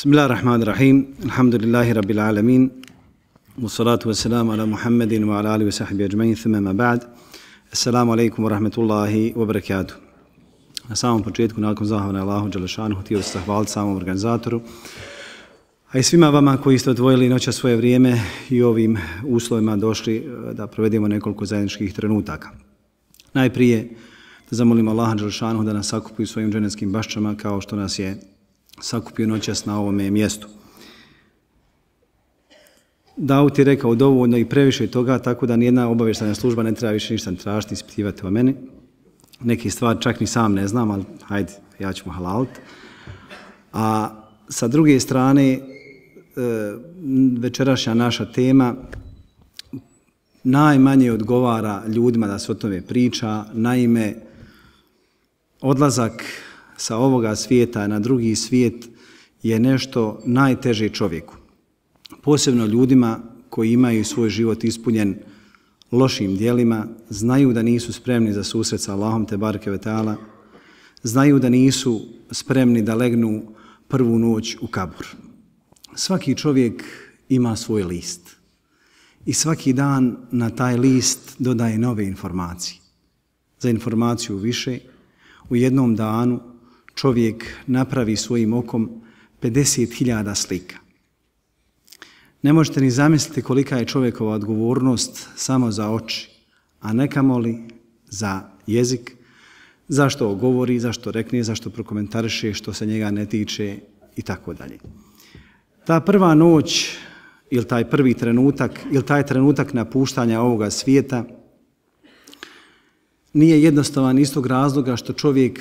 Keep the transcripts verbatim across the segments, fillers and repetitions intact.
Bismillahirrahmanirrahim. Alhamdulillahi rabbil alamin. Wassalatu wassalamu ala Muhammedin wa ala alihi wa sahbihi ajma'in. Thumma ma ba'd. Assalamu alaikum wa rahmatullahi wa barakatuh. Na samom početku, nakon zahvala Allahu dželle šanuhu, htio se zahvaliti samom organizatoru, a i svima vama koji ste odvojili noća svoje vrijeme i ovim uslovima došli da provedemo nekoliko zajedničkih trenutaka. Najprije da zamolimo Allaha dželle šanuhu da nas sakupi u svojim dženetskim baščama kao što nas je sakupio noćas na ovome mjestu. Davud je rekao dovoljno i previše toga, tako da nijedna obavještajna služba ne treba više ništa tražiti, ispitivati o meni. Neki stvari čak ni sam ne znam, ali hajde, ja ću mu halaliti. A sa druge strane, večerašnja naša tema najmanje odgovara ljudima da se o tome priča. Naime, odlazak sa ovoga svijeta na drugi svijet je nešto najteže čovjeku. Posebno ljudima koji imaju svoj život ispunjen lošim djelima, znaju da nisu spremni za susret sa Allahom te bareke ve taala, znaju da nisu spremni da legnu prvu noć u kabur. Svaki čovjek ima svoj list i svaki dan na taj list dodaje nove informacije. Za informaciju više, u jednom danu čovjek napravi svojim okom pedeset hiljada slika. Ne možete ni zamisliti kolika je čovjekova odgovornost samo za oči, a ne kamoli za jezik, zašto govori, zašto rekne, zašto prokomentariše, što se njega ne tiče i tako dalje. Ta prva noć ili taj prvi trenutak ili taj trenutak napuštanja ovoga svijeta nije jednostavan iz tog razloga što čovjek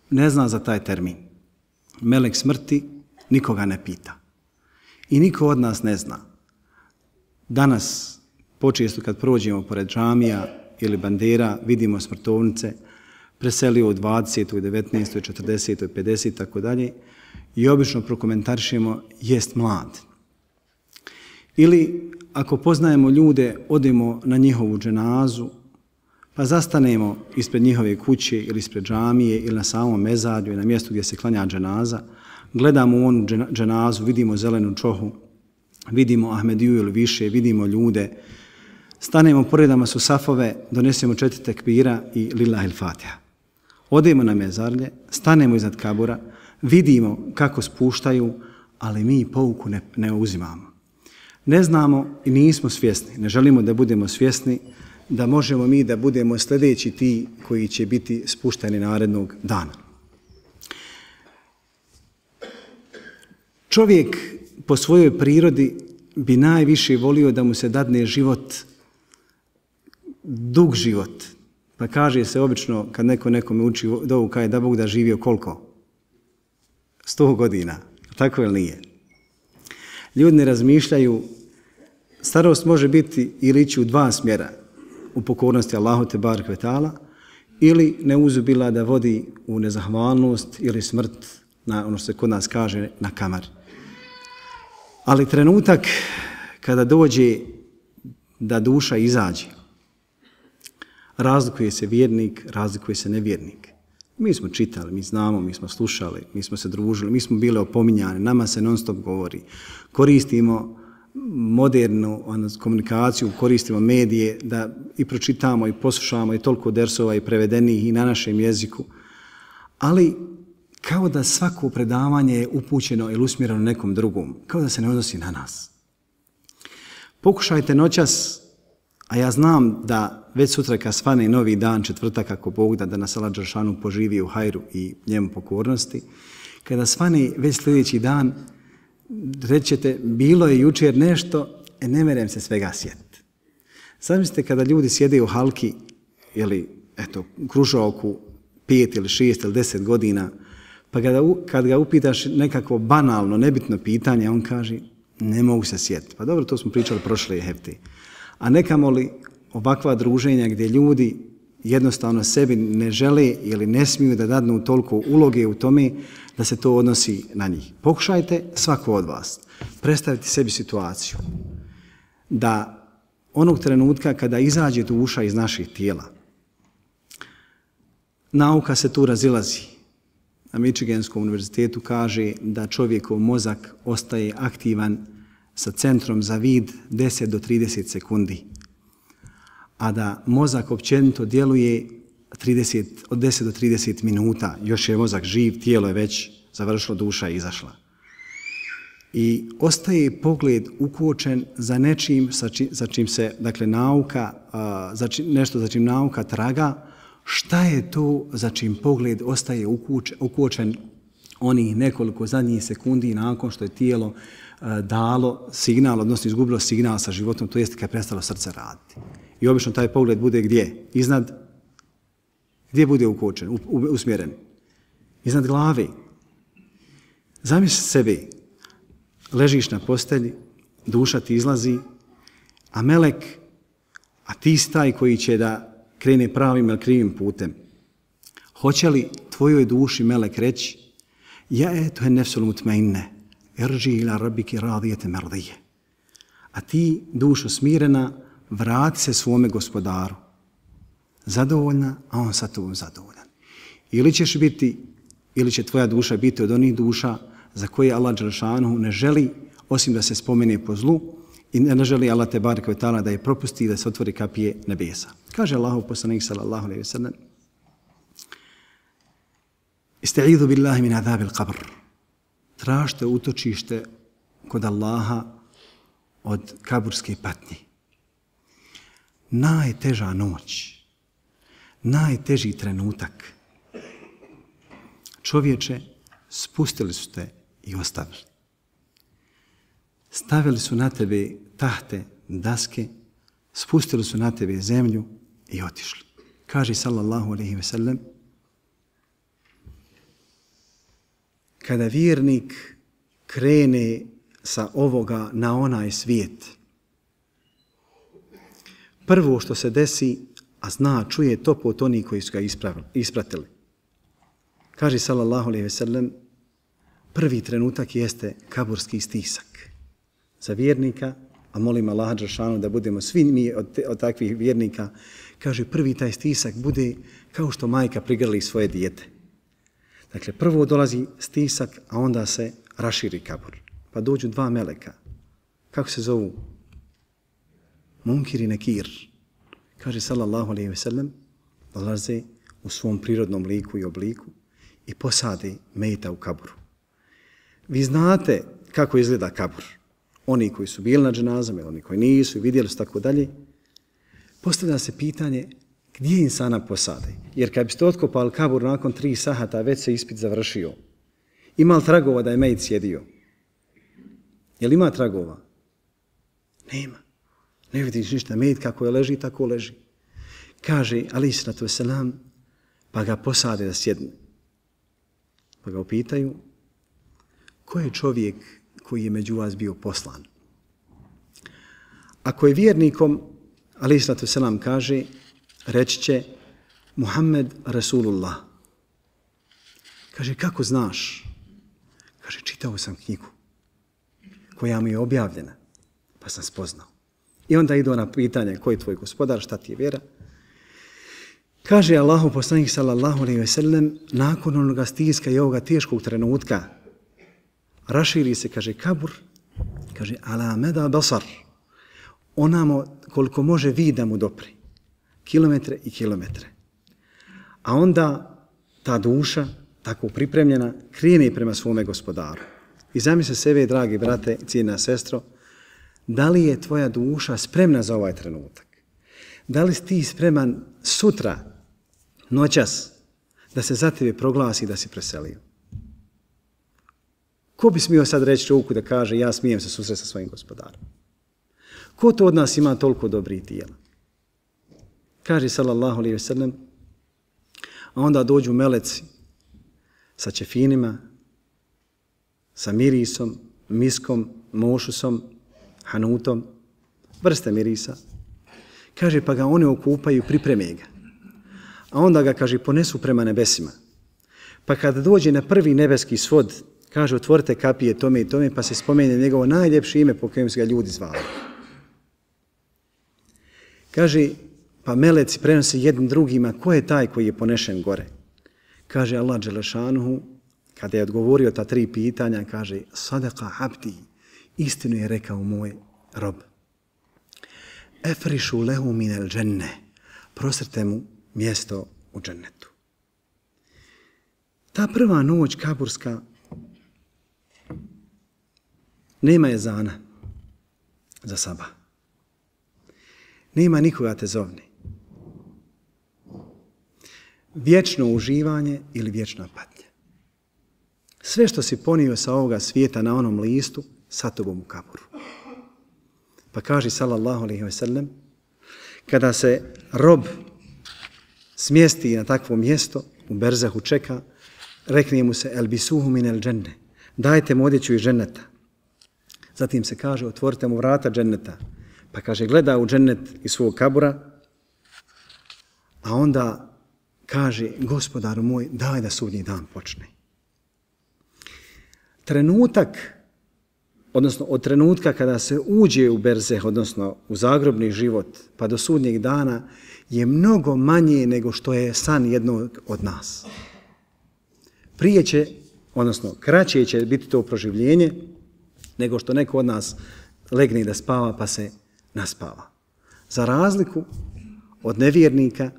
ne zna za taj termin. Melek smrti nikoga ne pita. I niko od nas ne zna. Danas, počesto kad prođemo pored džamija ili bandera, vidimo smrtovnice, preselio u dvadesetoj, devetnaestoj, četrdesetoj, pedesetoj, tako dalje, i obično prokomentarišemo jest mlad. Ili ako poznajemo ljude, odemo na njihovu dženazu, pa zastanemo ispred njihove kuće ili ispred džamije ili na samom mezarju i na mjestu gdje se klanja dženaza, gledamo onu dženazu, vidimo zelenu čohu, vidimo Ahmediju ili više, vidimo ljude, stanemo pored nama su safove, donesemo četiri tekbira i lillahi l-fatiha. Odemo na mezarlje, stanemo iznad kabura, vidimo kako spuštaju, ali mi pouku ne, ne uzimamo. Ne znamo i nismo svjesni, ne želimo da budemo svjesni da možemo mi da budemo sljedeći ti koji će biti spušteni narednog dana. Čovjek po svojoj prirodi bi najviše volio da mu se dadne život, dug život. Pa kaže se obično kad neko nekome uči dovu, kaže da Bog da živio koliko? Sto godina. Tako ili nije? Ljudi ne razmišljaju, starost može biti ili ići u dva smjera, u pokornosti Allahu te bareke ve taala, ili neuzubila da vodi u nezahvalnost ili smrt, na ono što se kod nas kaže, na kamar. Ali trenutak kada dođe da duša izađe, razlikuje se vjernik, razlikuje se nevjernik. Mi smo čitali, mi znamo, mi smo slušali, mi smo se družili, mi smo bili opominjani, nama se non stop govori. Koristimo modernu komunikaciju, koristimo medije da i pročitamo i poslušamo i toliko dersova i prevedenih i na našem jeziku. Ali kao da svako predavanje je upućeno ili usmjereno nekom drugom, kao da se ne odnosi na nas. Pokušajte noćas, a ja znam da već sutra kad svane novi dan, četvrtak, ako Bog da, da nas Allah dželle šanuhu poživi u hajru i njemu pokornosti, kada svane već sljedeći dan, rećete, bilo je jučer nešto, e ne merem se svega sjetiti. Zamislite kada ljudi sjede u halki ili eto, kružoku pet ili šest ili deset godina, pa kada, kad ga upitaš nekako banalno, nebitno pitanje, on kaže, ne mogu se sjetiti. Pa dobro, to smo pričali prošle hefte. A nekamo li ovakva druženja gdje ljudi jednostavno sebi ne žele ili ne smiju da dadnu toliko uloge u tome da se to odnosi na njih. Pokušajte svako od vas predstaviti sebi situaciju da onog trenutka kada izađe duša iz naših tijela, nauka se tu razilazi. na Michiganskom univerzitetu kaže da čovjekov mozak ostaje aktivan sa centrom za vid deset do trideset sekundi, a da mozak općenito djeluje trideset, od deset do trideset minuta. Još je mozak živ, tijelo je već završilo, duša je izašla. I ostaje pogled ukočen za nečim sa čim, za čim se, dakle, nauka, za čim, nešto za čim nauka traga. Šta je to za čim pogled ostaje ukočen onih nekoliko zadnjih sekundi nakon što je tijelo dalo signal, odnosno izgubilo signal sa životom, to jest kad je prestalo srce raditi. I obično taj pogled bude gdje? Iznad, gdje bude ukočen, usmjeren? Iznad glave. Zamisli sebe, ležiš na postelji, duša ti izlazi, a melek, a ti si taj koji će da krene pravim ili krivim putem. Hoće li tvojoj duši melek reći: ja eto je nefsul mutmainne, irži ila rabbiki radijete merdije. A ti, dušo smirena, vrati se svome gospodaru. Zadovoljna, a on sa tobom zadovoljan. Ili ćeš biti, ili će tvoja duša biti od onih duša za koje Allah dželešanu ne želi osim da se spomene po zlu i ne želi Allah te bareke ve taala da je propusti i da se otvori kapije nebesa. Kaže Allahov poslanik sallallahu alejhi ve sellem: Istaizu billahi min azabil qabr. Tražite utočište kod Allaha od kaburske patnje. Najteža noć, najteži trenutak. Čovječe, spustili su te i ostavili. Stavili su na tebe tahte, daske, spustili su na tebe zemlju i otišli. Kaže sallallahu alejhi ve sellem: kada vjernik krene sa ovoga na onaj svijet, prvo što se desi, a zna, čuje to pot oni koji su ga ispratili. Kaže sallallahu alejhi ve sellem: prvi trenutak jeste kaburski stisak za vjernika, a molim Allaha dželešanu da budemo svi mi od, te, od takvih vjernika. Kaže, prvi taj stisak bude kao što majka prigrli svoje dijete. Dakle, prvo dolazi stisak, a onda se raširi kabur. Pa dođu dva meleka. Kako se zovu? Munkir i Nekir. Kaže sallallahu alejhi ve sellem, dolaze u svom prirodnom liku i obliku i posade mejta u kaburu. Vi znate kako izgleda kabur. Oni koji su bili na dženazama, oni koji nisu i vidjeli su tako dalje. Postavlja se pitanje gdje insana posade. Jer kad biste otkopali kabur nakon tri sahata, već se ispit završio. Ima li tragova da je mejt sjedio? Je li ima tragova? Nema. Ne vidiš ništa. Mejt kako je leži, tako leži. Kaže alejhi salatu vesselam, pa ga posade da sjedne. Pa ga upitaju: ko je čovjek koji je među vas bio poslan? Ako je vjernikom, alejhi salatu vesselam kaže, reći će: Muhammed Rasulullah. Kaže, kako znaš? Kaže, čitao sam knjigu koja mi je objavljena, pa sam spoznao. I onda idu na pitanje: ko je tvoj gospodar, šta ti je vjera? Kaže Allahu poslanik sallallahu alejhi ve sellem, nakon onoga stiska i ovoga teškog trenutka, raširi se, kaže, kabur, kaže, ala meda basar, onamo koliko može vid da mu dopri, kilometre i kilometre. A onda ta duša, tako pripremljena, krene prema svome gospodaru. I zamisli sebe, dragi brate i cijena sestro, da li je tvoja duša spremna za ovaj trenutak? Da li si ti spreman sutra, noćas, da se za tebe proglasi da si preselio? Ko bi smio sad reći ruku da kaže: ja smijem se susreti sa svojim gospodarom? Ko to od nas ima toliko dobrih tijela? Kaže sallallahu alejhi ve sellem, a onda dođu meleci sa ćefinima, sa mirisom, miskom, mošusom, hanutom, vrste mirisa. Kaže, pa ga one okupaju i pripreme ga. A onda ga, kaže, ponesu prema nebesima. Pa kada dođe na prvi nebeski svod, kaže, otvorite kapije tome i tome, pa se spomene njegovo najljepše ime po kojem su ga ljudi zvali. Kaže, pa meleci prenose jednim drugima, ko je taj koji je ponešen gore? Kaže Allah dželešanuhu, kada je odgovorio ta tri pitanja, kaže Sadaka abdi, istinu je rekao moj rob. Efrišu lehu minel dženne, prosrte mu mjesto u džennetu. Ta prva noć kaburska nema ezana za sabah. Nema nikoga te zovni. Vječno uživanje ili vječna patnja. Sve što si ponio sa ovoga svijeta na onom listu, sa tobom u kaburu. Pa kaže sallallahu alejhi ve sellem, kada se rob smjesti na takvo mjesto, u berzahu čeka, rekne mu se elbisuhu min el dženne, dajte mu odjeću iz dženneta. Zatim se kaže, otvorite mu vrata dženneta. Pa kaže, gleda u džennet iz svog kabura, a onda kaže, gospodaru moj, daj da sudnji dan počne. Trenutak, odnosno od trenutka kada se uđe u berzeh, odnosno u zagrobni život, pa do sudnjeg dana, je mnogo manje nego što je san jednog od nas. Prije će, odnosno kraće će biti to proživljenje, nego što neko od nas legne da spava pa se naspava. Za razliku od nevjernika,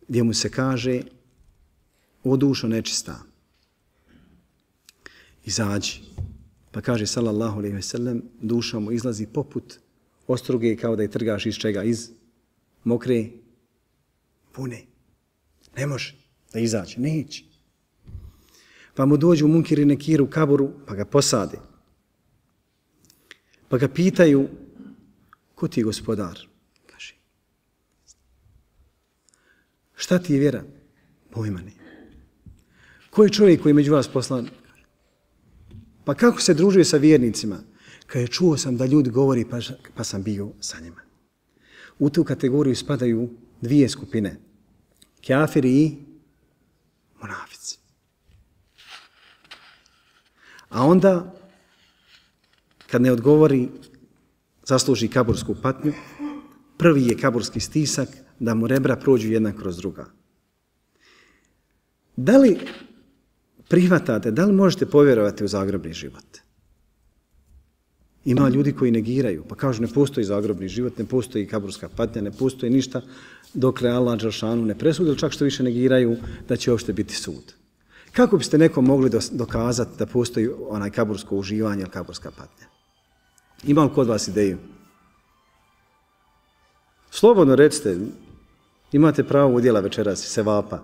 gdje mu se kaže o dušo nečista, izađi. Pa kaže sallallahu alejhi ve sellem, duša mu izlazi poput ostruge kao da je trgaš iz čega? Iz mokre pune. Ne može da izađe, neće. Pa mu dođu munkiri nekir u kaburu, pa ga posade. Pa ga pitaju, ko ti je gospodar? Kaže, šta ti je vjera? Pojma ne. Ko je čovjek koji je među vas poslan? Pa kako se družuje sa vjernicima? Kaže, čuo sam da ljudi govori, pa, pa sam bio sa njima. U tu kategoriju spadaju dvije skupine. Kafiri i munafici. A onda, kad ne odgovori, zasluži kabursku patnju, prvi je kaburski stisak da mu rebra prođu jedna kroz druga. Da li prihvatate, da li možete povjerovati u zagrobni život? Ima ljudi koji negiraju, pa kažu ne postoji zagrobni život, ne postoji kaburska patnja, ne postoji ništa, dokle Allah dželešanu ne presudi, ili čak što više negiraju da će uopšte biti sud. Kako biste nekom mogli dokazati da postoji onaj kabursko uživanje ili kaburska patnja? Ima li kod vas ideju? Slobodno recite, imate pravo udjela večeras i sevapa.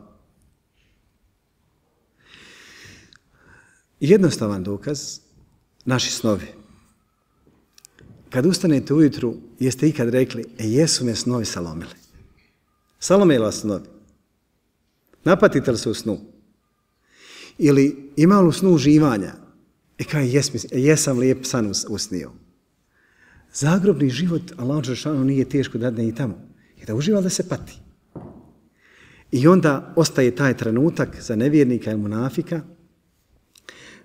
Jednostavan dokaz, naši snovi. Kad ustanete ujutru, jeste ikad rekli, e jesu me snovi salomili. Salomili vas snovi. Napatite li se u snu? Ili ima li u snu uživanja? E kaj, jes, jesam lijep san usnio. Zagrobni život, Allah dželešanu nije teško da ne i tamo. I da uživa da se pati. I onda ostaje taj trenutak za nevjernika i munafika,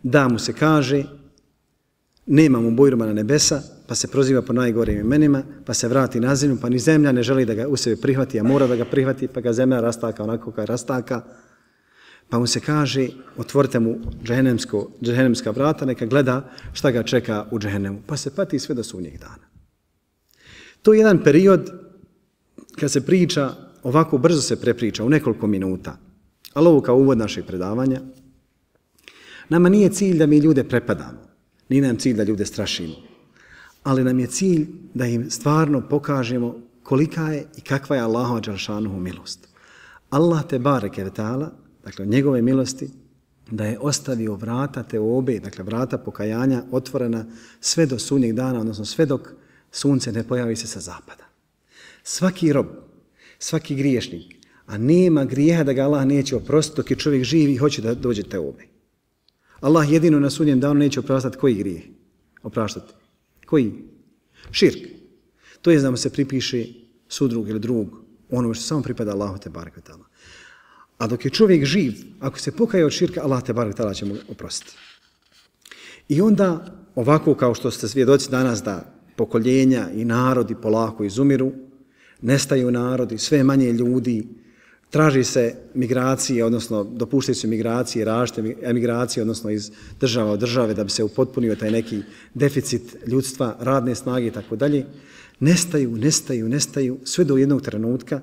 da mu se kaže, nema mu bojruma na nebesa, pa se proziva po najgorim imenima, pa se vrati na zemlju, pa ni zemlja ne želi da ga u sebi prihvati, a mora da ga prihvati, pa ga zemlja rastaka onako kao rastaka. Pa mu se kaže, otvorite mu džehennemska vrata, neka gleda šta ga čeka u džehennemu. Pa se pati sve do sudnjeg dana. To je jedan period kad se priča, ovako brzo se prepriča, u nekoliko minuta. Ali ovo kao uvod našeg predavanja. Nama nije cilj da mi ljude prepadamo. Nije nam cilj da ljude strašimo. Ali nam je cilj da im stvarno pokažemo kolika je i kakva je Allahova dželešanohu milost. Allah te bareke ve taala, dakle njegove milosti, da je ostavio vrata teobe, dakle vrata pokajanja otvorena sve do sudnjeg dana, odnosno sve dok sunce ne pojavi se sa zapada. Svaki rob, svaki griješnik, a nema grijeha da ga Allah neće oprostiti dok je čovjek živ i hoće da dođe teobe. Allah jedino na sudnjem danu neće opraštati koji grijeh? Opraštati. Koji? Širk. To je da mu se pripiše sudrug ili drug, ono što samo pripada Allahu te barek ve taala. A dok je čovjek živ, ako se pokaje od širka, Allah te barek ve taala će mu oprostiti. I onda, ovako kao što ste svjedoci danas da pokoljenja i narodi polako izumiru, nestaju narodi, sve manje ljudi, traži se migracije, odnosno dopuštaju se migracije, različite emigracije, odnosno iz država od države da bi se upotpunio taj neki deficit ljudstva, radne snage i tako dalje, nestaju, nestaju, nestaju, sve do jednog trenutka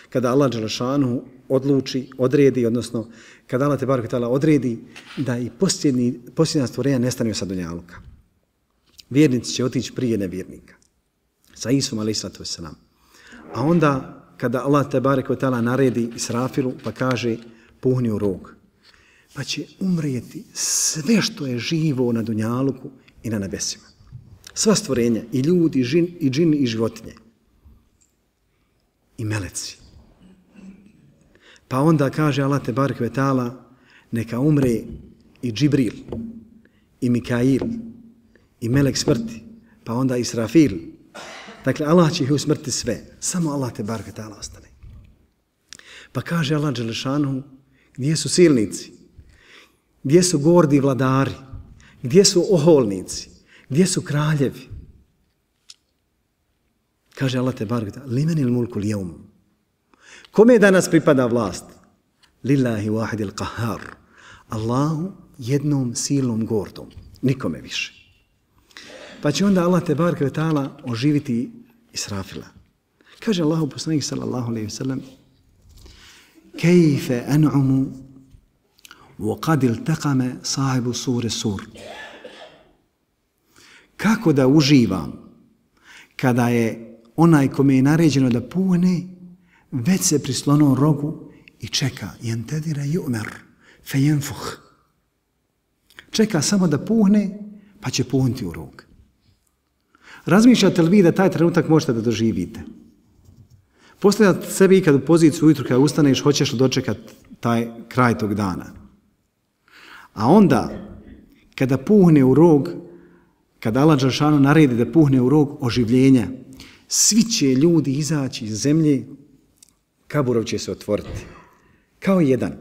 kada Allah dželešanu odluči, odredi, odnosno kada Allah tebareke ve taala odredi da i posljednji, posljednja stvorenja nestanu sa dunjaluka. Vjernici će otići prije nevjernika. Sa Isom alejhiselatu vesselam. A onda kada Allah tebareke ve taala naredi Israfilu pa kaže puhni u rog, pa će umrijeti sve što je živo na dunjaluku i na nebesima. Sva stvorenja, i ljudi, i džin, i džin, i životinje. I meleci. Pa onda kaže Allah tebareke ve taala neka umre i Džibril, i Mikail, i melek smrti, pa onda Israfil. Dakle, Allah će ih usmrti sve. Samo Allah tebareke ve taala ostane. Pa kaže Allah dželešanu, gdje su silnici? Gdje su gordi vladari? Gdje su oholnici? Gdje su kraljevi? Kaže Allah tebareke ve taala, limenil mulku l-jevm. Kome danas pripada vlast? Lillahi wahidil qahhar. Allahu jednom silnom gordom. Nikome više. Pa će onda Allah tebareke ve taala oživiti Israfila. Kaže Allahu poslanik sallallahu alejhi ve sellem: "Kejfe an'umu wa qad iltaqama sahibu sure sur." Kako da uživam kada je onaj kome je naređeno da puhne već se prislonuo rogu i čeka yantadira yu'mar fayanfukh. Čeka samo da puhne pa će puhnuti u rog. Razmišljate li vi da taj trenutak možete da doživite? Postavljate sebi ikad u poziciju ujutru kada ustaneš, hoćeš li dočekati taj kraj tog dana. A onda, kada puhne u rog, kada Allah dželešanu naredi da puhne u rog oživljenja, svi će ljudi izaći iz zemlje, kaburov će se otvoriti. Kao jedan.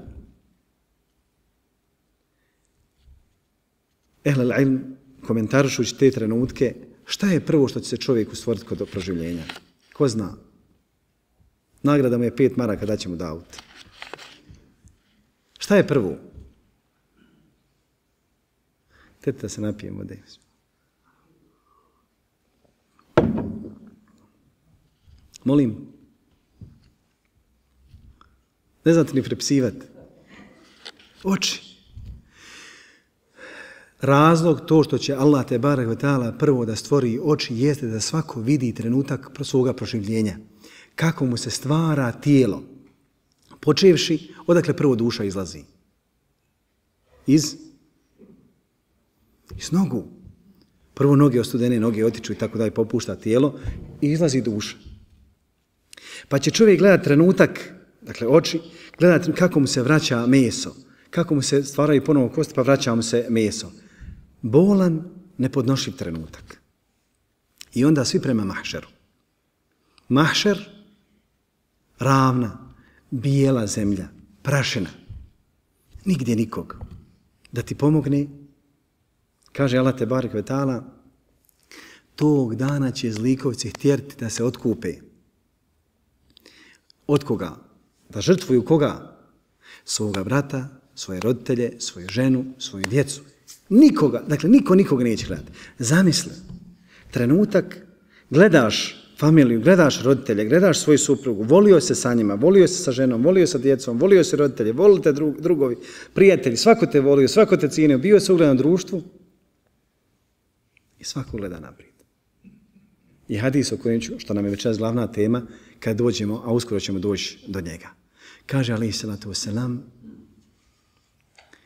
Ehl al-ilm, komentarišući te trenutke, šta je prvo što će se čovjeku stvoriti kod proživljenja? Ko zna? Nagrada mu je pet maraka, da će mu da auto. Šta je prvo? Tete da se napijemo. Da Molim. Ne znate ni prepsivati. Oči. Razlog to što će Allah tebareke ve taala prvo da stvori oči jeste da svako vidi trenutak svoga proživljenja. Kako mu se stvara tijelo. Počevši, odakle prvo duša izlazi? Iz? Iz nogu. Prvo noge ostudene, noge otiču i tako dalje, popušta tijelo i izlazi duša. Pa će čovjek gledati trenutak, dakle oči, gledati kako mu se vraća meso, kako mu se stvaraju ponovo kosti pa vraća mu se meso. Bolan, nepodnošljiv trenutak. I onda svi prema mahšeru. Mahšer, ravna, bijela zemlja, prašina. Nigdje nikog. Da ti pomogne, kaže Allah tebareke ve taala, tog dana će zlikovci htjeti da se otkupe. Od koga? Da žrtvuju koga? Svoga brata, svoje roditelje, svoju ženu, svoju djecu. Nikoga, dakle niko nikoga neće gledati. Zamisli, trenutak, gledaš familiju, gledaš roditelje, gledaš svoju suprugu, volio se sa njima, volio se sa ženom, volio se sa djecom, volio se roditelje, volio te drug, drugovi, prijatelji, svako te volio, svako te cijenio, bio se ugledan društvu i svako gleda naprijed. I hadis o kojem ću, što nam je večeras glavna tema, kad dođemo, a uskoro ćemo doći do njega. Kaže alejhi salatu vesselam,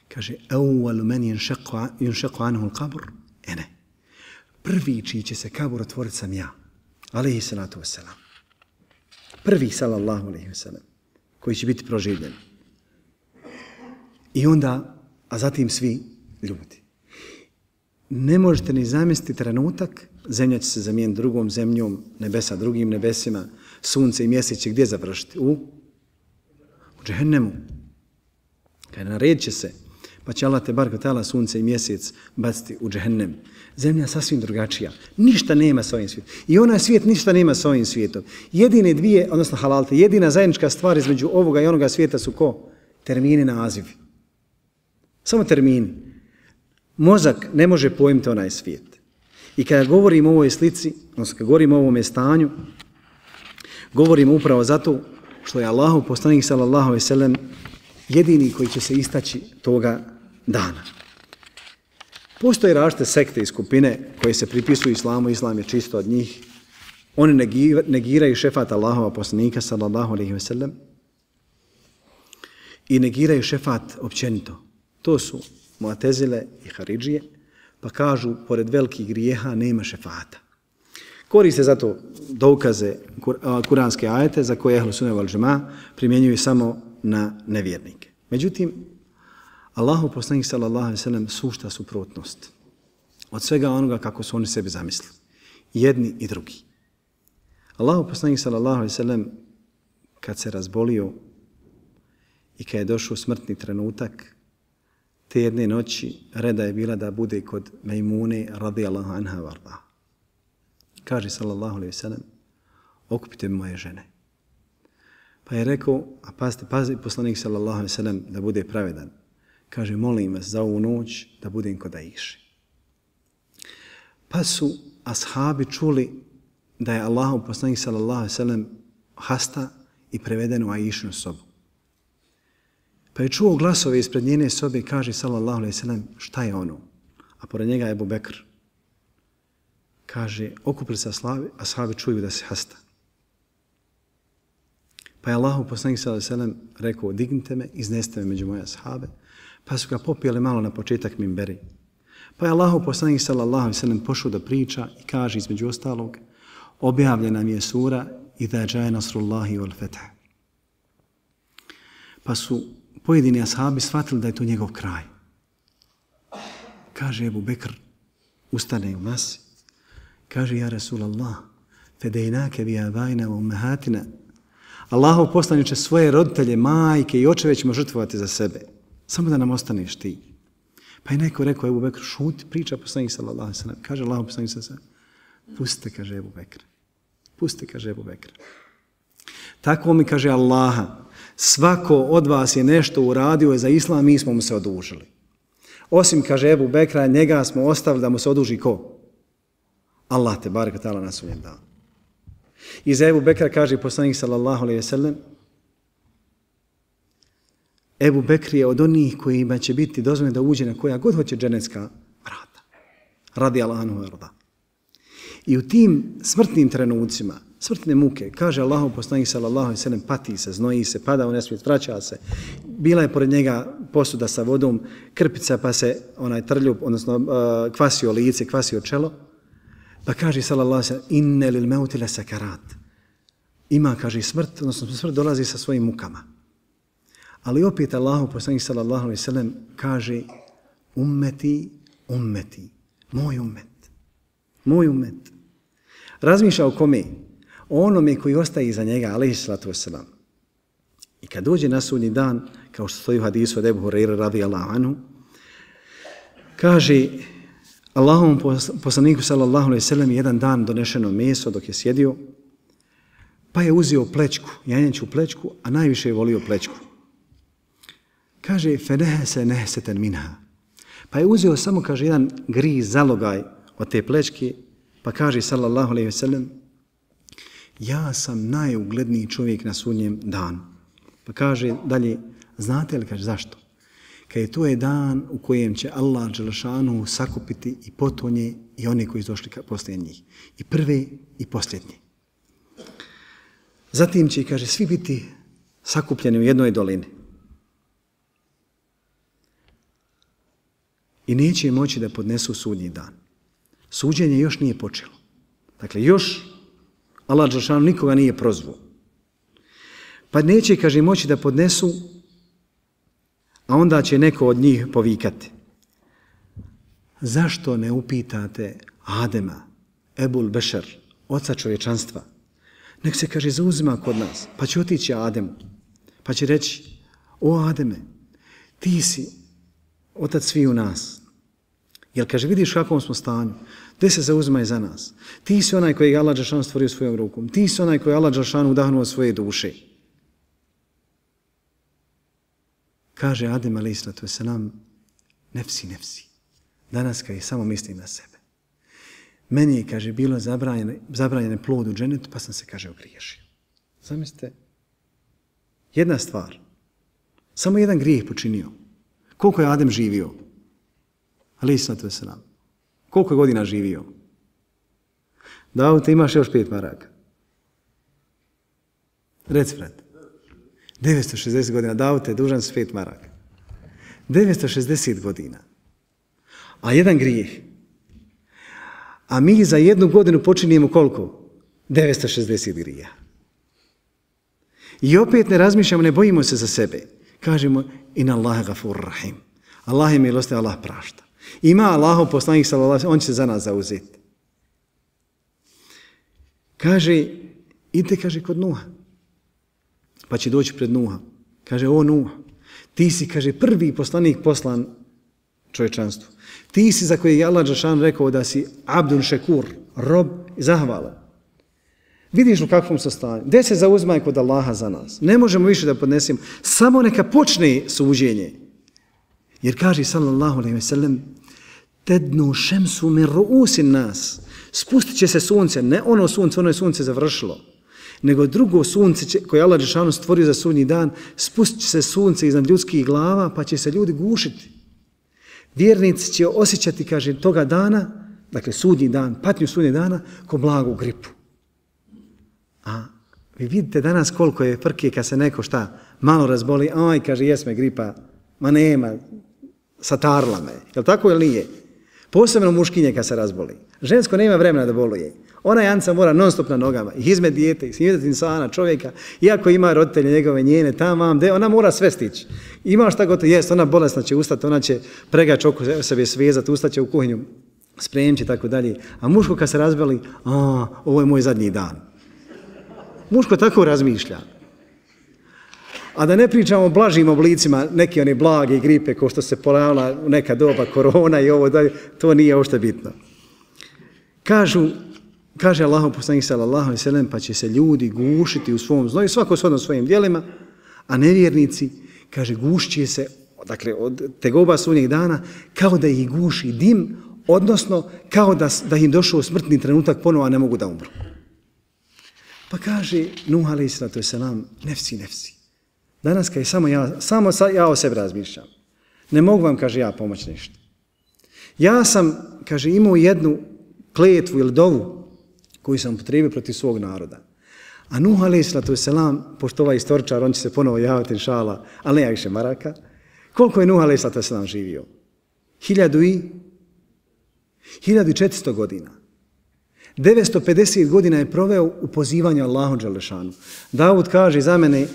kaže, awwalu man yunshaqu anhu al-qabr, ene. Prvi čiji će se kabur otvoriti sam ja. Alejhi salatu vesselam. Prvi, sallallahu alejhi ve sellem, koji će biti proživljen. I onda, a zatim svi ljudi. Ne možete ni zamisliti trenutak, zemlja će se zamijeniti drugom zemljom, nebesa drugim nebesima, sunce i mjesec će gdje završiti? U, u džehennemu. Kada naredit će se, Pa će Allah te barko tala sunce i mjesec baciti u džehennem. Zemlja sasvim drugačija. Ništa nema sa ovim svijetom. I onaj svijet ništa nema sa ovim svijetom. Jedine dvije, odnosno halalte, jedina zajednička stvar između ovoga i onoga svijeta su ko? Termini, nazivi. Samo termini. Mozak ne može pojmiti onaj svijet. I kada govorimo o ovoj slici, odnosno kada govorimo o ovome stanju, govorimo upravo zato što je Allahu poslanik sallallahu alejhi ve sellem jedini koji će se istaći toga dana. Postoje različite sekte i skupine koje se pripisuju islamu, islam je čisto od njih. Oni negiraju šefat Allahova poslanika sallallahu alejhi ve sellem i negiraju šefat općenito. To su Mu'tezile i Haridžije, pa kažu pored velikih grijeha nema šefata. Koriste zato dokaze kuranske ajete za koje Ehlu Sunne vel Džema primjenjuju samo na nevjernike. Međutim, Allahu poslanik sallallahu alejhi ve sellem sušta suprotnost od svega onoga kako su oni sebi zamislili. Jedni i drugi. Allahu poslanik sallallahu alejhi ve sellem kad se razbolio i kad je došao smrtni trenutak, te jedne noći reda je bila da bude kod Mejmune radijallahu anha varda. Kaže sallallahu alejhi ve sellem, okupite mi moje žene. Pa je rekao, a pazite, pazi poslanik sallallahu alejhi ve sellem da bude pravedan. Kaže, molim vas za ovu noć da budem kod Aiše. Pa su ashabi čuli da je Allahov poslanik sallallahu alejhi ve sellem hasta i preveden u Aišinu sobu. Pa je čuo glasove ispred njene sobe i kaže sallallahu alejhi ve sellem, šta je ono? A pored njega je Ebu Bekr. Kaže, okupili se ashabi, ashabi čuju da se hasta. Pa je Allahu poslanik sallallahu alejhi ve sellem rekao, dignite me, iznesite me među moje ashabe. Pa su ga popijali malo na početak minberi. Pa je Allahu poslanik sallallahu alejhi ve sellem pošao da priča i kaže između ostalog, objavljena mi je sura Iza džae nasrullahi wal fath. Pa su pojedini ashabi shvatili da je to njegov kraj. Kaže Ebu Bekr, ustane u masi, kaže, ja Rasulallah, fedejnake bi abajna u ummahatina. Allahov poslaniče, svoje roditelje, majke i očeve ćemo žrtvovati za sebe. Samo da nam ostaneš ti. Pa je neko rekao Ebu Bekr, šuti, priča poslanik sallallahu alejhi ve sellem. Kaže Allahov poslanik sallallahu alejhi ve sellem, pustite, kaže Ebu Bekr. Pustite, kaže Ebu Bekr. Tako mi kaže Allaha, svako od vas je nešto uradio za islam, mi smo mu se odužili. Osim, kaže Ebu Bekra, njega smo ostavili da mu se oduži ko? Allah te barek ta'ala na sudnjem danu. I za Ebu Bekra kaže poslanik sallallahu alejhi ve sellem, Ebu Bekr je od onih kojima će biti dozvoljeno da uđe na koja god hoće dženecka vrata. Radi Allahu anhu arda. I u tim smrtnim trenucima, smrtne muke, kaže Allahu poslanik sallallahu alejhi ve sellem, pati se, znoji se, pada u nesvijest, vraća se. Bila je pored njega posuda sa vodom, krpica, pa se onaj trljub, odnosno uh, kvasio lice, kvasio čelo. Pa kaže sallallahu alejhi ve sellem, inne lil mauti la sakarat. Ima, kaže, smrt, odnosno smrt dolazi sa svojim mukama. Ali opet Allahu poslanik sallallahu alejhi ve sellem kaže, ummeti, ummeti, moj ummet, moj ummet. Razmišlja o kome? O onome koji ostaje iza njega, alejhi salatu vesselam. I kad dođe na sudnji dan, kao što stoji u hadisu od Ebu Hurajre radijallahu anhu, kaže Allahovom poslaniku sallallahu alejhi ve sellem jedan dan donešeno meso dok je sjedio, pa je uzeo plečku, janjaću plečku, a najviše je volio plečku. Kaže, fenehese nehseten minha. Pa je uzeo samo, kaže, jedan griz, zalogaj od te plečke, pa kaže, sallallahu alejhi ve sellem, ja sam najugledniji čovjek na sudnjem danu. Pa kaže dalje, znate li, kaže, zašto? Kaže, to je dan u kojem će Allah dželešanu sakupiti i potonje i one koji su došli poslije njih. I prve i posljednje. Zatim će, kaže, svi biti sakupljeni u jednoj dolini. I neće moći da podnesu sudnji dan. Suđenje još nije počelo. Dakle, još Allah dželešanu nikoga nije prozvao. Pa neće, kaže, moći da podnesu, a onda će neko od njih povikati. Zašto ne upitate Adema, Ebul Bešar, oca čovječanstva? Nek se, kaže, zauzima kod nas, pa će otići Ademu, pa će reći, o Ademe, ti si otac svi u nas. Jer kaže, vidiš u kakvom smo stanju, gdje se zauzimaj za nas. Ti si onaj koji je Allah Đelešanu stvorio svojom rukom. Ti si onaj koji je Allah Đelešanu udahnuo svoje duše. Kaže Adem alejhi selatu vesselam, nefsi, nefsi. Danas kad je samo mislim na sebe. Meni je, kaže, bilo zabranjene, zabranjene plod u dženetu, pa sam se, kaže, ogriješio. Zamislite, jedna stvar, samo jedan grijeh počinio. Koliko je Adem živio? Alejhi selatu vesselam. Koliko je godina živio? Davud, imaš još pet maraka. Reci, brat. devetsto šezdeset godina. Davud, je dužan s pet maraka. devetsto šezdeset godina. A jedan grijeh. A mi za jednu godinu počinjemo koliko? devetsto šezdeset grija. I opet ne razmišljamo, ne bojimo se za sebe. Kažemo, inna Allahe gafur rahim. Allah je milostiv, Allah prašta. Ima Allahov poslanik sallallahu alejhi ve sellem, on će se za nas zauzeti. Kaže, idite, kaže, kod Nuha. Pa će doći pred Nuha. Kaže, o Nuh, ti si, kaže, prvi poslanik poslan čovječanstvu. Ti si za koje je Allah Đelešanu rekao da si abdun šekur, rob i zahvalan. Vidiš u kakvom su stanju. Gdje se zauzmaj kod Allaha za nas? Ne možemo više da podnesemo. Samo neka počne suđenje. Jer kaže sallallahu alejhi ve sellem, tednu šemsu min ruusin nas. Spustit će se sunce, ne ono sunce, ono je sunce završilo, nego drugo sunce će, koje Allah Đelešanu stvorio za sudnji dan, spustit će se sunce iznad ljudskih glava, pa će se ljudi gušiti. Vjernici će osjećati, kaže, toga dana, dakle sudnji dan, patnju sudnjeg dana, ko blagu gripu. A vi vidite danas koliko je frke kad se neko šta malo razboli, aj, kaže, jesme gripa, ma nema, satarla me. Je li tako ili nije? Posebno muškinje kad se razboli. Žensko nema vremena da boluje. Ona janca mora non stop na nogama. I izme dijete, i izme insana, čovjeka, iako ima roditelje njegove, njene, tam, vam, de, ona mora sve stići. Ima šta gotovo, jest, ona bolesna će ustati, ona će pregač oko sebe svezati, ustaće u kuhinju, spremći i tako dalje. A muško kad se razboli, a, ovo je moj zadnji dan. Muško tako razmišlja. A da ne pričamo o blažim oblicima, neki one blage gripe, kao što se pojavila u neka doba, korona i ovo dalje, to nije uopšte bitno. Kažu, kaže Allahov poslanik sallallahu alejhi ve sellem, pa će se ljudi gušiti u svom znoju, svako shodno svojim djelima, a nevjernici, kaže, gušće se, dakle, od tegoba sudnjeg dana, kao da ih guši dim, odnosno kao da, da im došao smrtni trenutak ponovo, a ne mogu da umru. Pa kaže Nuh alejhi selatu vesselam, nefsi, nefsi. Danas kad je samo ja, samo ja o sebi razmišljam. Ne mogu vam, kaže, ja pomoći ništa. Ja sam, kaže, imao jednu kletvu ili dovu koju sam potrebio protiv svog naroda. A Nuh alejhi selatu vesselam, pošto ovaj istoričar, on će se ponovo javiti inšala, ali ne više maraka, koliko je Nuh alejhi selatu vesselam živio? Hiljadu i hiljadu i četiristo godina. devetsto pedeset godina je proveo u pozivanju Allahu Đelešanu. Davud kaže za mene,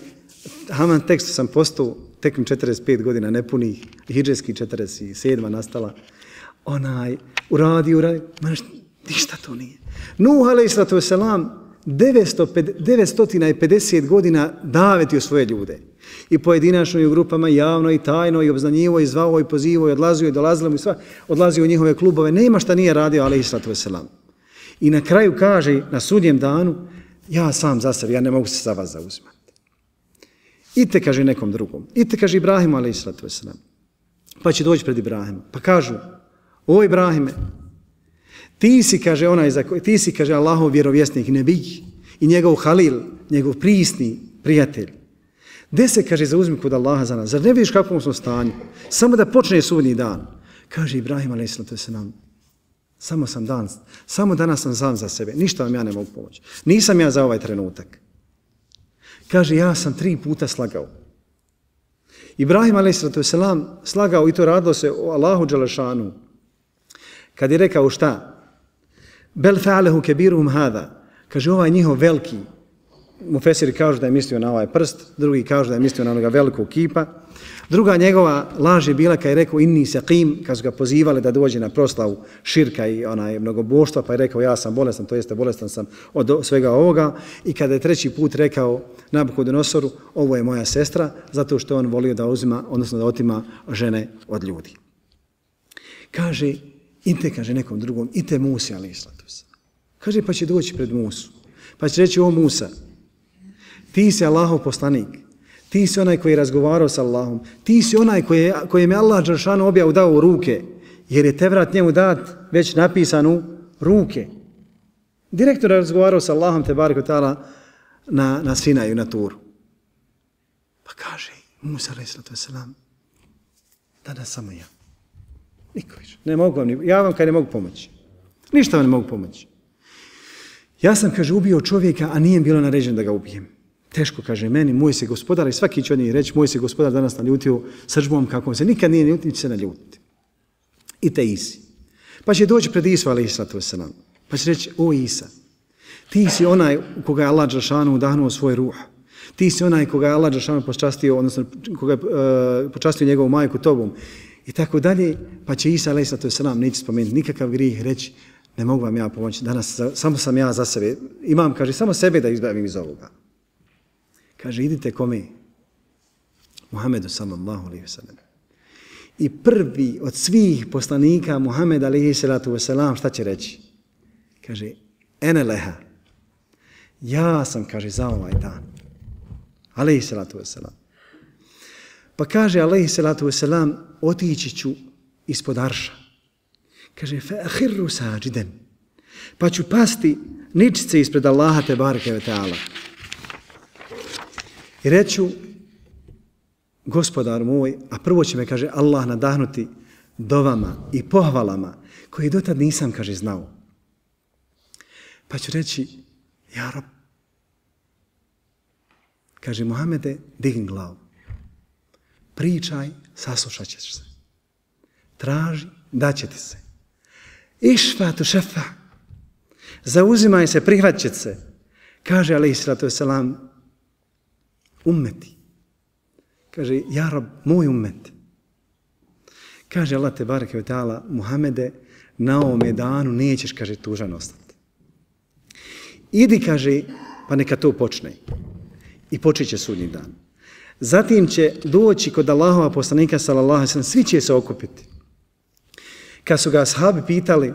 Haman tekstu sam postao tek mi četrdeset pet godina nepunih, hidžetski četrdeset sedam nastala, onaj, uradi, uradi, maš, ništa to nije. Nuh alejhi selatu vesselam devetsto pedeset godina davetio svoje ljude. I pojedinačno i u grupama, javno i tajno, i obznanjivo, i zvao, i pozivao, i odlazio, i dolazilo, i sva, odlazio u njihove klubove. Nema šta nije radio alejhi selatu vesselam. I na kraju kaže, na sudnjem danu, ja sam za sebe, ja ne mogu se za vas zauzimati. Ite, kaže nekom drugom. Ite, kaže Ibrahimu, alejhi selatu vesselam. Pa će doći pred Ibrahima. Pa kažu, o Ibrahime, ti si, kaže, onaj za koji, ti si, kaže, Allahov vjerovjesnik, nebij, i njegov halil, njegov prisni prijatelj. Gde se, kaže, zauzmi kod Allaha za nas? Zar ne vidiš kakvom smo stanju? Samo da počne sudnji dan. Kaže Ibrahim, alejhi selatu vesselam, samo sam dan, samo danas sam sam za sebe, ništa vam ja ne mogu pomoći. Nisam ja za ovaj trenutak. Kaže, ja sam tri puta slagao. Ibrahim alejhi selatu vesselam slagao i to radilo se o Allahu Đelešanu. Kad je rekao šta? Bel fa'alehu kebiruhum hada. Kaže, ovaj njihov veliki, mufesiri kažu da je mislio na ovaj prst, drugi kažu da je mislio na onoga velikog kipa. Druga njegova laž je bila kad je rekao inni saqim, kad su ga pozivali da dođe na proslavu širka i onaj mnogoboštva, pa je rekao ja sam bolestan, to jeste bolestan sam od svega ovoga. I kada je treći put rekao Nabukodonosoru, ovo je moja sestra, zato što on volio da uzima, odnosno da otima žene od ljudi. Kaže, ite, kaže nekom drugom, ite Musi, alejhi selatu vesselam. Kaže, pa će doći pred Musu. Pa će reći, o Musa, ti si Allahov poslanik, ti si onaj koji je razgovarao sa Allahom, ti si onaj koji, kojem je Allah dželešanu objavu dao u ruke, jer je Tevrat njemu dat već napisan u ruke. Direktno je razgovarao sa Allahom te barek ta'ala na, na Sinaju, na Turu. Pa kaže Musa alejhi selatu vesselam, danas samo ja. Niko više. Ne mogu vam, ja vam kaj ne mogu pomoći. Ništa vam ne mogu pomoći. Ja sam, kaže, ubio čovjeka, a nije bilo naređeno da ga ubijem. Teško, kaže, meni, moj se gospodar, i svaki će od njih reći, moj se gospodar danas naljutio srdžbom kako se nikad nije naljutio, će se naljutiti. I te Isi. Pa će doći pred Isu, alejhi selatu vesselam. Pa će reći, o Isa, ti si onaj u koga je Allah dželešanu udahnuo svoj ruh. Ti si onaj koga je Allah dželešanu počastio, odnosno koga je uh, počastio njegovu majku tobom. I tako dalje, pa će Isa alejhi selatu vesselam neće spomenuti nikakav grijeh, reći, ne mogu vam ja pomoći, danas samo sam ja za sebe. Imam, kaže, samo sebe da izbavim iz ovoga. Kaže, idite kome? Muhammedu sallallahu alejhi ve sellem. I prvi od svih poslanika Muhammed alejhi selatu vesselam šta će reći? Kaže, ene leha. Ja sam, kaže, za ovaj dan. Alejhi selatu vesselam. Pa kaže, alejhi selatu vesselam, otići ću ispod arša. Kaže, fa ahirru sađiden. Pa ću pasti ničice ispred Allaha te bareke ve ta'ala. I reću, gospodar moj, a prvo će me, kaže, Allah nadahnuti dovama i pohvalama koje dotad nisam, kaže, znao. Pa ću reći, ja Rab, kaže, Muhammede, digni glavu. Pričaj, saslušat ćeš se. Traži, daće ti se. Išfatu šefa. Zauzimaj se, prihvat će se. Kaže, alejhi selatu vesselam, ummeti. Kaže, ja Rab, moj ummet. Kaže Allah te bareke ve ta'ala, Muhammede, na ovome danu nećeš, kaže, tužan ostati. Idi, kaže, pa neka to počne. I počet će sudnji dan. Zatim će doći kod Allahova poslanika, sallallahu alejhi ve sellem, svi će se okupiti. Kad su ga ashabi pitali,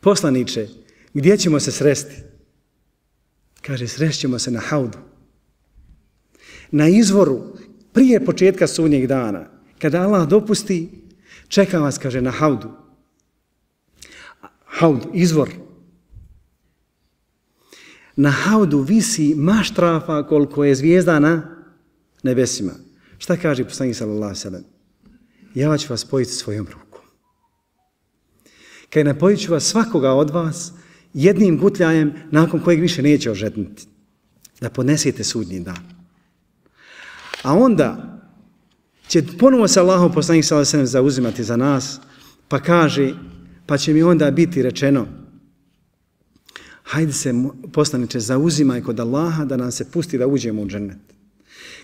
poslaniče, gdje ćemo se sresti? Kaže, srešćemo se na haudu. Na izvoru, prije početka sudnjeg dana, kada Allah dopusti, čeka vas, kaže, na haudu. Haudu, izvor. Na haudu visi maštrafa koliko je zvijezda na nebesima. Šta kaže poslanik sallallahu alejhi ve sellem? Ja ću vas spojiti svojom rukom. Kaj napojit ću vas svakoga od vas jednim gutljajem nakon kojeg više neće ožetnuti. Da podnesete sudnji dan. A onda će ponovo se Allahov poslanik sallallahu alejhi ve sellem zauzimati za nas, pa kaže, pa će mi onda biti rečeno, hajde se, poslaniče, zauzimaj kod Allaha da nam se pusti da uđemo u džennet.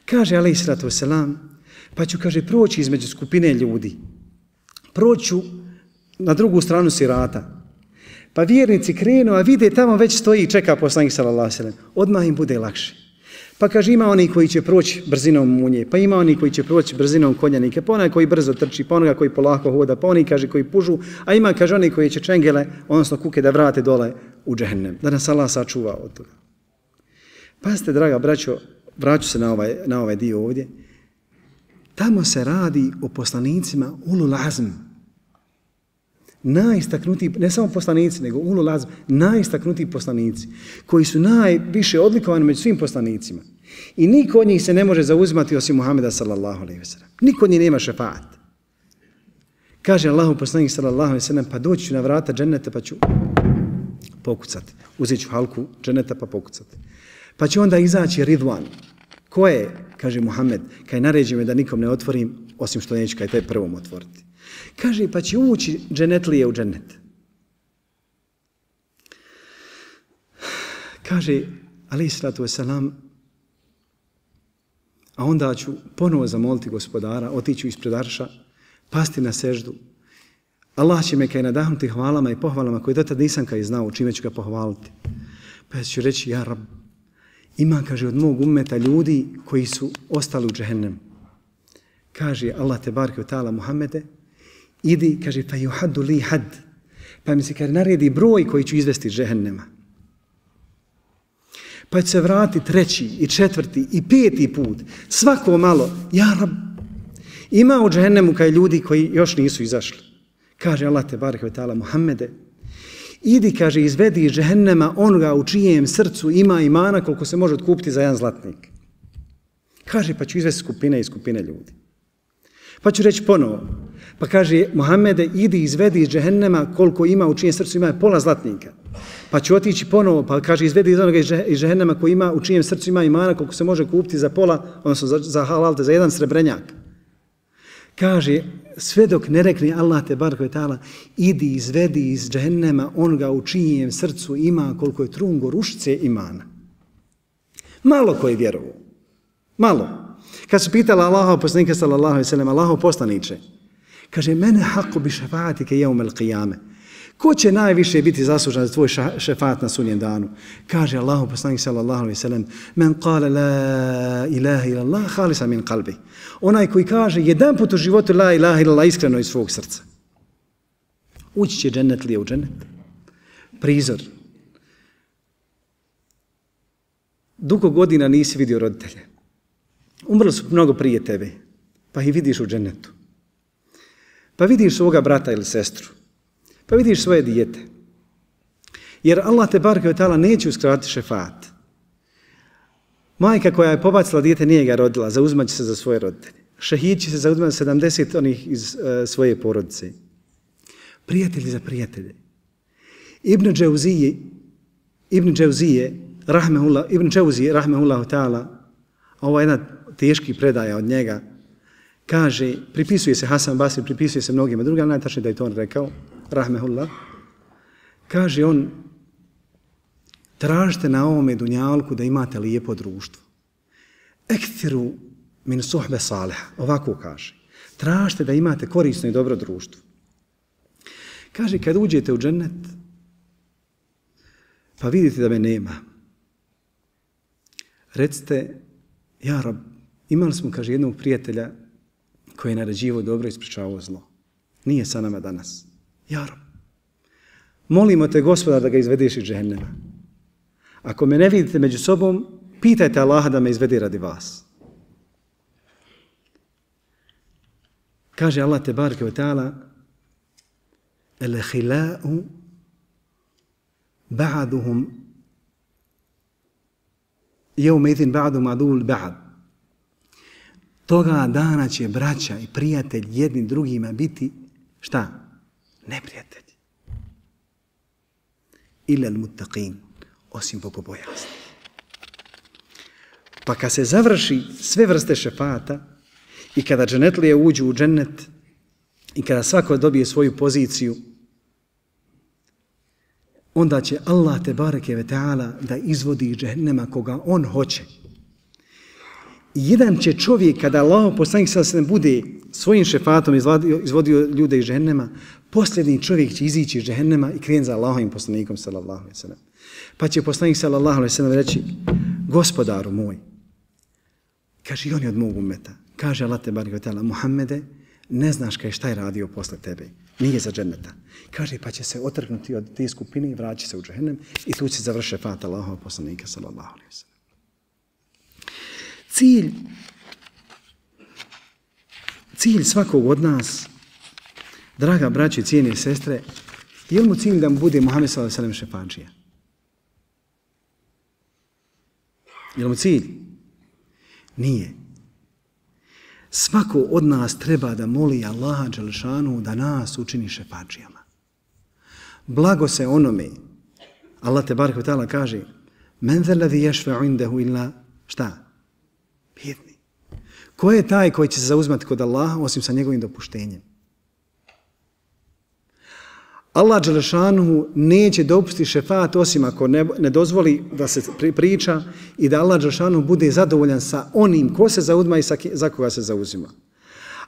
Kaže, alejhi selatu vesselam, pa ću, kaže, proći između skupine ljudi. Proću na drugu stranu sirata. Pa vjernici krenu, a vide tamo već stoji i čeka poslanik sallallahu alejhi ve sellem. Odmah im bude lakše. Pa kaže, ima oni koji će proći brzinom munje, pa ima oni koji će proći brzinom konjanike, pa onaj koji brzo trči, pa onoga koji polako hoda, pa oni, kaže, koji pužu, a ima, kaže, oni koji će čengele, odnosno kuke da vrate dole u džehennem. Da nas Allah sačuva od toga. Pazite, draga braćo, vraću se na ovaj, na ovaj dio ovdje. Tamo se radi o poslanicima ulul azm. Najistaknutiji, ne samo poslanici, nego ulul azm, najistaknutiji poslanici, koji su najviše odlikovani među svim poslanicima. I niko od njih se ne može zauzimati osim Muhameda sallallahu alejhi ve sellem. Niko od njih nema šefaat. Kaže Allahu poslanik sallallahu alejhi ve sellem, pa doći ću na vrata dženneta pa ću pokucati. Uzet ću halku dženneta pa pokucati. Pa će onda izaći Ridvan. Ko je, kaže Muhammed, kaj naređi me da nikom ne otvorim, osim što neću kaj te prvom otvoriti. Kaže, pa će ući dženetlije u džennet. Kaže, alejhi salatu vesselam, a onda ću ponovo zamoliti gospodara, otiću ispred arša, pasti na seždu. Allah će me kaj nadahnuti hvalama i pohvalama koje dotad nisam kaj znao, čime ću ga pohvaliti. Pa ću reći, ja Rab, ima, kaže, od mog ummeta ljudi koji su ostali u džehennem. Kaže Allah te barke ta'ala Muhammede, idi, kaže, pa yuhaddu li had, pa mi se kaže, naredi broj koji ću izvesti iz džehennema. Pa će se vrati treći i četvrti i peti put, svako malo, ja rab, ima u džehennemu kaj ljudi koji još nisu izašli. Kaže Allah te barek ve ta'ala Muhammede, idi, kaže, izvedi iz džehennema onoga u čijem srcu ima imana koliko se može otkupiti za jedan zlatnik. Kaže, pa ću izvesti skupine i skupine ljudi. Pa ću reći ponovo. Pa kaže, Muhammede, idi izvedi iz džehennema koliko ima u čijem srcu ima pola zlatnika. Pa ću otići ponovo, pa kaže, izvedi iz onoga iz džehennema koji ima u čijem srcu ima imana koliko se može kupiti za pola, odnosno za, za halalte, za jedan srebrenjak. Kaže, sve dok ne rekne Allah te barek ve ta'ala, idi izvedi iz džehennema onoga u čijem srcu ima koliko je trun gorušice imana. Malo koji vjeruju. Malo. Kad su pitala Allaha poslanika sallallahu alejhi ve sellem, Allahov poslanice, kaže, mene haqqu bi šefaatike jevme l'qiyame. Ko će najviše biti zaslužan za tvoj šefaat na sudnjem danu? Kaže Allahov poslanik sallallahu alejhi ve sellem, men qala la ilaha illallah khalisa min qalbi. Onaj koji kaže jedan put u životu la ilaha illallah iskreno iz svog srca. Ući će džennet li je u džennet? Prizor. Dugo godina nisi vidio roditelje. Umrli su mnogo prije tebe, pa ih vidiš u džennetu. Pa vidiš svoga brata ili sestru. Pa vidiš svoje dijete. Jer Allah te bareke ve ta'ala neće uskratiti šefaat. Majka koja je pobacila dijete nije ga rodila, zauzmat će se za svoje roditelje. Šehid će se zauzmati sedamdeset onih iz uh, svoje porodice. Prijatelji za prijatelje. Ibn Džauzije, Ibn Džauzije, rahmehullah, Ibn Džauzije, rahmehullahu ta'ala, ovo je jedna teški predaja od njega, kaže, pripisuje se Hasan Basri, pripisuje se mnogima drugima, najtačnije da je to on rekao, rahmehullah, kaže on, tražite na ovome dunjalku da imate lijepo društvo. Ekthiru min suhbe saliha, ovako kaže. Tražite da imate korisno i dobro društvo. Kaže, kad uđete u džennet, pa vidite da me nema, recite, ja rab, imali smo, kaže, jednog prijatelja koji je naređivao dobro i ispričavao zlo. Nije sa nama danas. Ja rab, molimo te, Gospodar, da ga izvedeš iz džehennema. Ako me ne vidite među sobom, pitajte Allaha da me izvede radi vas. Kaže Allah te bareke ve ta'ala, el khila'u ba'duhum jevme idin ba'du ma'dul ba'd. Toga dana će braća i prijatelj jednim drugima biti, šta? Neprijatelji. Ila al-muttaqin, osim bogobojaznih. Pa kad se završi sve vrste šefata i kada dženetlije uđu u džennet i kada svako dobije svoju poziciju, onda će Allah te bareke ve ta'ala da izvodi iz džehennema koga on hoće. I jedan će čovjek, kada Allah poslanik sallallahu alejhi ve sellem bude svojim šefatom izvodio, izvodio ljude iz džehennema, posljednji čovjek će izići iz džehennema i krenuti za Allahovim poslanikom sallallahu alejhi ve sellem. Pa će poslanik sallallahu alejhi ve sellem reći, Gospodaru moj, kaže, i on je od mog umeta. Kaže Allah te bareke ve ta'ala, Muhammede, ne znaš kaj šta je radio posle tebe. Nije za dženneta. Kaže, pa će se otrgnuti od te skupine i vraći se u džehennem i tu će završi šefat Allahova poslanika sallallahu alejhi ve sellem. Cilj, cilj svakog od nas, draga braći i cijene sestre, je li mu cilj da mu bude Muhammed sallallahu alejhi ve sellem šefadžija? Je li mu cilj? Nije. Svako od nas treba da moli Allaha dželešanu da nas učini šefadžijama. Blago se onome, Allah te bareke ve ta'ala kaže, men zellezi yashfa'u indehu illa, šta? Bjedni. Ko je taj koji će se zauzmati kod Allaha osim sa njegovim dopuštenjem? Allah dželešanu neće dopustiti šefat osim ako ne, ne dozvoli da se priča i da Allah dželešanu bude zadovoljan sa onim ko se zauzma i sa, za koga se zauzima.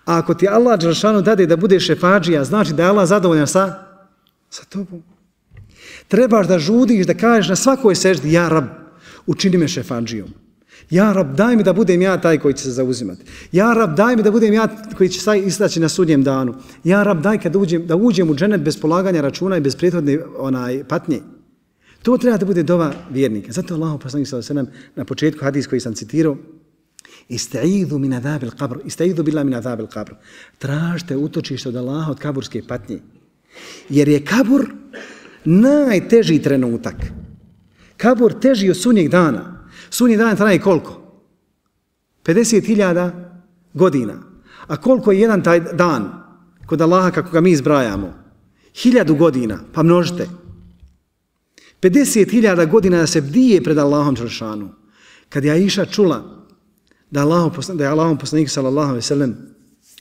A ako ti Allah dželešanu dade da bude šefadžija, znači da je Allah zadovoljan sa, sa tobom. Trebaš da žudiš, da kažeš na svakoj seždi, ja rab, učini me šefadžijom. Ja Rab, daj mi da budem ja taj koji će se zauzimati. Ja Rab, daj mi da budem ja koji će se istaći na sudnjem danu. Ja Rab, daj kad uđem, da uđem u dženet bez polaganja računa i bez prethodne onaj, patnje. To treba da bude dova vjernika. Zato Allah poslanik sallallahu alejhi ve sellem na početku hadis koji sam citirao, Ista'idhu min adhabil qabr, ista'idhu billahi min adhabil qabr. Tražite utočište od Allaha od kaburske patnje. Jer je kabur najteži trenutak. Kabur teži od sunnjeg dana. Sunnji dan traje koliko? pedeset hiljada godina. A koliko je jedan taj dan kod Allaha kako ga mi izbrajamo? Hiljadu godina, pa množite. pedeset hiljada godina da se bdije pred Allahom Đelešanu. Kad je Aisha čula da, Allah, da je Allahom poslanik sallallahu alejhi ve sellem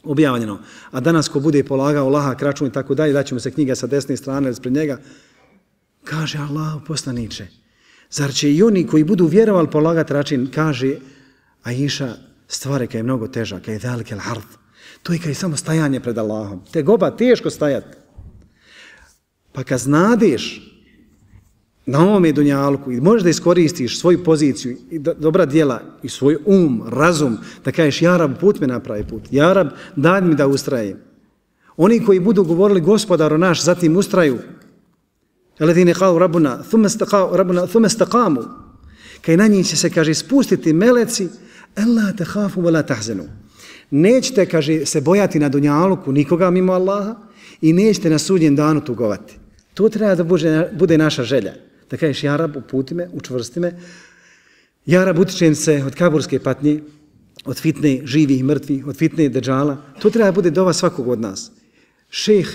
objavljeno, a danas ko bude polagao lahak račun i tako dalje, daće mu se knjiga sa desne strane ispred njega, kaže Allahov poslaniče, zar će i oni koji budu vjerovali polagati račun, kaže Aisha, stvari kaj je mnogo teža, kaj je dalike l'ard, to je kaj je samo stajanje pred Allahom, te goba teško stajati. Pa kad znadeš na ovome dunjalku i možeš da iskoristiš svoju poziciju i dobra djela i svoj um, razum, da kažeš ja Rab, put me napravi put, ja Rab, daj mi da ustrajem. Oni koji budu govorili gospodaru naš, zatim ustraju, Alladine qalu rabbuna thumma istaqamu, kaj na njih će se, kaže, spustiti meleci, alla takhafu wa la tahzanu. Nećete, kaže, se bojati na dunjaluku nikoga mimo Allaha i nećete na sudnjem danu tugovati. To treba da bude, bude naša želja. Da kažeš, ja Rab, uputi me, učvrsti me, ja Rab, utičem se od kaburske patnje, od fitne živih i mrtvih, od fitne deđala. To treba da bude dova svakog od nas. Šejh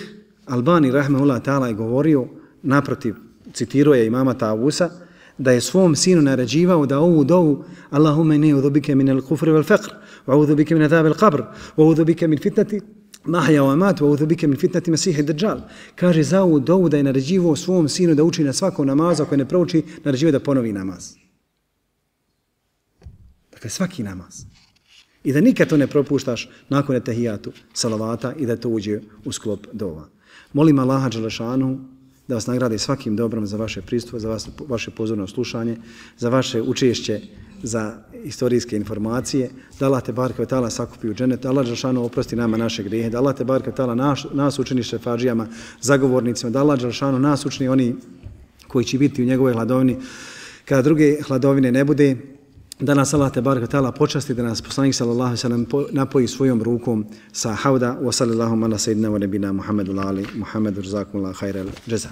Albani, rahmehullah ta'ala, je govorio, naprotiv, citirao je imama Tavusa, da je svom sinu naređivao da ovu dovu Allahumme ne udhubike min al-kufri wal-faqr, wa udhubike min adhab al-qabr, wa udhubike min fitnati mahja wa mat, wa udhubike min fitnati masihi dajjal. Kaže za ovu dovu da je naređivao svom sinu da uči na svakom namazu, ako ne prouči, naređivao da ponovi namaz. Dakle, svaki namaz. I da nikad to ne propuštaš nakon etahijatu, salavata i da to uđe u sklop dova. Molim Allaha dželešanu da vas nagradi svakim dobrom za vaše pristup, za vas, vaše pozorno slušanje, za vaše učešće, za istorijske informacije, da Allah te barke ve ta'ala sakupi u dženet, da Allah dželešanu oprosti nama naše grijehe, da Allah te barke ve ta'ala nas, nas učini šefađijama, zagovornicima, da Allah dželešanu nas učini oni koji će biti u njegovoj hladovini, kada druge hladovine ne bude, da nas Allah te barke ve ta'ala počasti, da nas poslanik sallallahu alejhi ve sellem napoji svojom rukom sa hauda, wa sallallahu ala sayyidina wa nabina Muhammedu ali Muhammedu jazakumullahu khairal jaza.